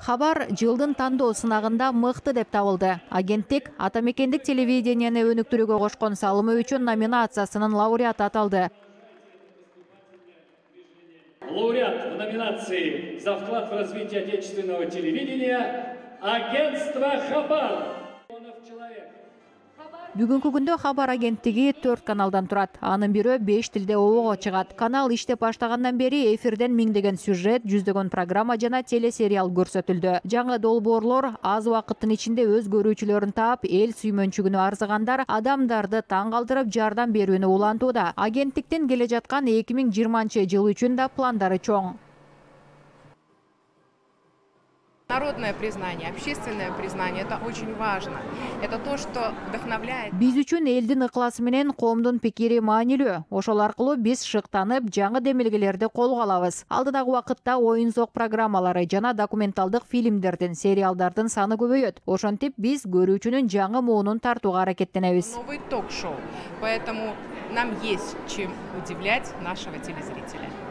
Хабар жылдын тандоо сынагында мыкты деп табылды. Агенттик ата мекендик телевиденияны өнүктүрүүгө кошкон салымы үчүн номинациясынын лауреаты аталды. Лауреат в номинации «За вклад в развитие отечественного телевидения» агентство «Хабар». Бүгүнкү күндө Хабар агенттиги 4 каналдан турат. Анын бирөө 5 тилде обого чыгат. Канал иштеп баштагандан бери эфирден миңдеген сюжет, жүздөгөн программа жана телесериал көрсөтүлдү. Жаңы долбоорлор аз убакыттын ичинде өз көрүүчүлөрүн таап, эл сүймөнчүгүнө арзыгандар адамдарды таң калтырып жардам берүүнү улантууда. Агенттиктин келе жаткан 2020 жыл үчүн да пландары чоң. Народное признание, общественное признание – это очень важно. Это то, что вдохновляет. Биз үчүн элдин ыкласы менен коомдун пикири маанилүү. Ошол аркылуу биз шыктанып, жаңы демилгелерди колго алабыз. Алдыдагы убакытта оюн-зок программалары жана документалдык фильмдердин, сериалдардын саны көбөйөт. Ошентип биз көрүүчүнүн жаңы муунун тартууга аракеттенебиз. Новый ток-шоу. Поэтому нам есть чем удивлять нашего телезрителя.